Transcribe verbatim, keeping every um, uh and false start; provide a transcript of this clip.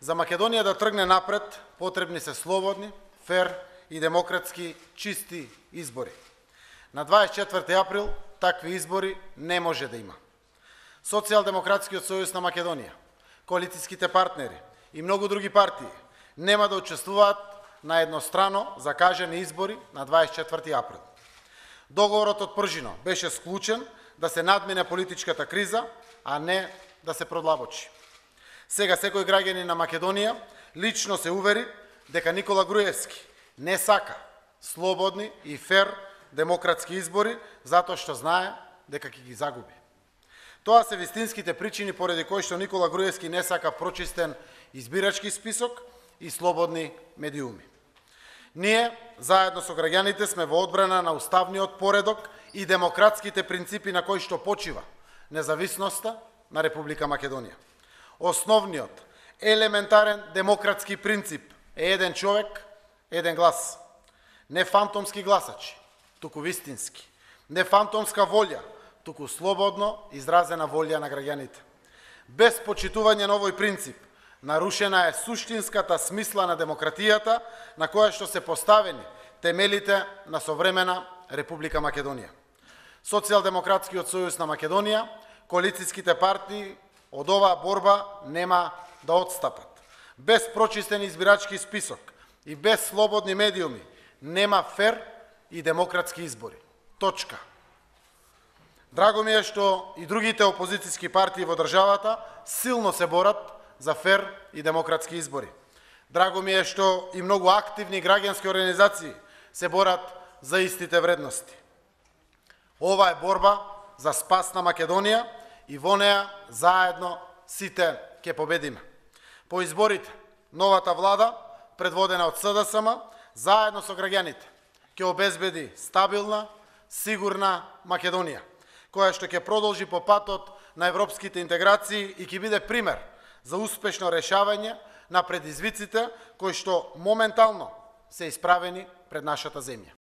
За Македонија да тргне напред, потребни се слободни, фер и демократски чисти избори. На дваесет и четврти април такви избори не може да има. Социјалдемократскиот сојуз на Македонија, коалицијските партнери и многу други партии нема да учествуваат на еднострано закажани избори на дваесет и четврти април. Договорот од Пржино беше склучен да се надмине политичката криза, а не да се продлабочи. Сега секој граѓанин на Македонија лично се увери дека Никола Груевски не сака слободни и фер демократски избори, затоа што знае дека ќе ги загуби. Тоа се вистинските причини поради кои што Никола Груевски не сака прочистен избирачки список и слободни медиуми. Ние, заедно со граѓаните, сме во одбрана на уставниот поредок и демократските принципи на кои што почива независноста на Република Македонија. Основниот, елементарен демократски принцип е еден човек, еден глас. Не фантомски гласачи, туку вистински. Не фантомска волја, туку слободно изразена волја на граѓаните. Без почитување на овој принцип, нарушена е суштинската смисла на демократијата на која што се поставени темелите на современа Република Македонија. Социјалдемократскиот сојуз на Македонија, коалицијските партии од оваа борба нема да отстапат. Без прочистен избирачки список и без слободни медиуми нема фер и демократски избори. Точка. Драго ми е што и другите опозицијски партии во државата силно се борат за фер и демократски избори. Драго ми е што и многу активни граѓански организации се борат за истите вредности. Ова е борба за спас на Македонија и во неа заедно сите ќе победиме. По изборите, новата влада, предводена од СДСМ, заедно со граѓаните, ќе обезбеди стабилна, сигурна Македонија, која што ќе продолжи по патот на европските интеграции и ќе биде пример за успешно решавање на предизвиците кои што моментално се исправени пред нашата земја.